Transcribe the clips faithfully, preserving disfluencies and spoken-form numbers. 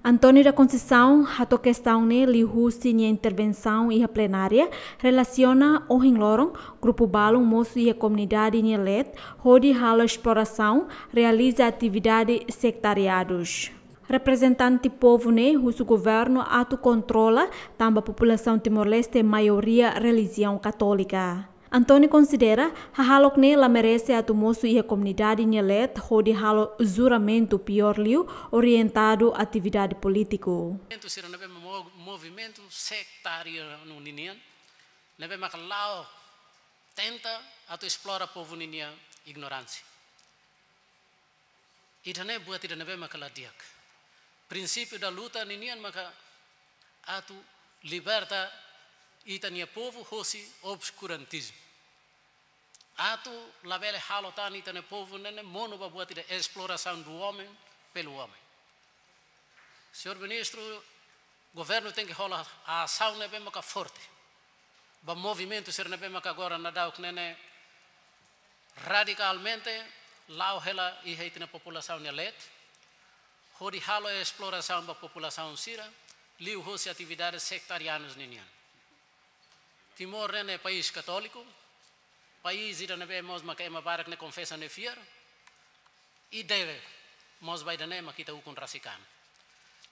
António da Conceição hato'o kestaun ne'e liuhusi nia intervensaun iha plenária, relasiona ohin loron grupu balun mosu iha komunidade nia leet hodi halo esplorasaun, realiza atividade sektariadus. Reprezentante povu ne'e husu governu atu kontrola, tanba populasaun Timor-Leste maioria relijiaun katólika. António konsidera hahalok ne'e la merese atu mosu iha komunidade nia leet hodi halo juramentu, piór liu orientadu atividade polítiku. Movimentu sira ne'ebé mo-, movimentu sektáriu ninian, ne'ebé maka la'o tenta atu esplora povu ninia ignoránsia. Ida-ne'e buat ida ne'ebé maka la di'ak. Princípio da luta ninian maka atu liberta ita-nia povu hosi obskurantismu. Atu labele halo tan ita-nia povu ne'e ne'e monu ba buat ida exploração do homem pelo homem. Señór Ministru, governu tenke hola asaun ne'ebé maka forte ba movimentu sira ne'ebé maka agora daudaun ne'e ne'e radikalmente la'o hela iha ita-nia populasaun nia leet, hodi halo esplorasaun ba populasaun sira liuhosi atividade sektárianus ninian. Timor ne'e ne'e país katóliku, país ida ne'ebé mós maka ema barak ne'e konfesa nia fiar, i deve mós ba ida-ne'e maka ita ukun rasik an.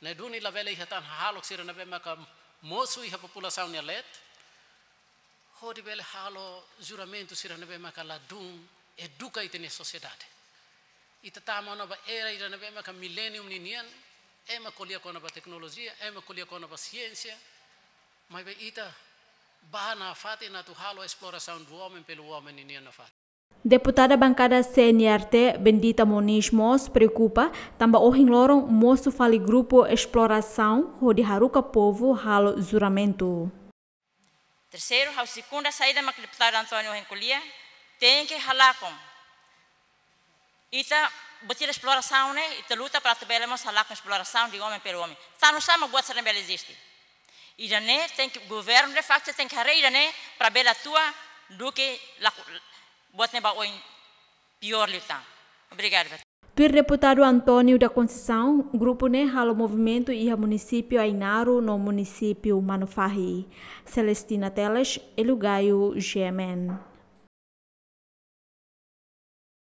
Ne'e duni labele iha tan hahalok sira ne'ebé maka mosu iha populasaun nia leet, hodi bele halo juramentu sira ne'ebé maka ladún eduka ita-nia sosiedade. Ita tama ona ba era ida ne'ebé maka milenium ninian, ema ko'alia kona-ba teknolojia, ema ko'alia kona-ba siénsia, maibé ita ba nafatin atu halo exploração do homem pelo homem ninian nafatin. Deputada bankada C N R T, Bendita Moniz mós preokupa, tanba ohin loron mosu fali grupu esplorasaun hodi haruka povu halo juramentu. Terseiru, ha'u sekunda saida mak deputadu António ohin ko'alia, tenke halakon. Ita buat ida esplorasaun ne'e, ita luta para atu bele mós halakon exploração de homem pelo homem. Tanusá mak buat sira ne'e bele eziste. Ida-ne'e tenke, governu de facto tenke haree ida-ne'e para bele atua duké la, buat ne'e ba oin piór liután. Obrigada. Tuir deputadu António da Conceição, grupu ne'e halo movimentu iha munisípiu Ainaro no munisípiu Manufahi. Celestina Teles, Elio Gaio, G M N.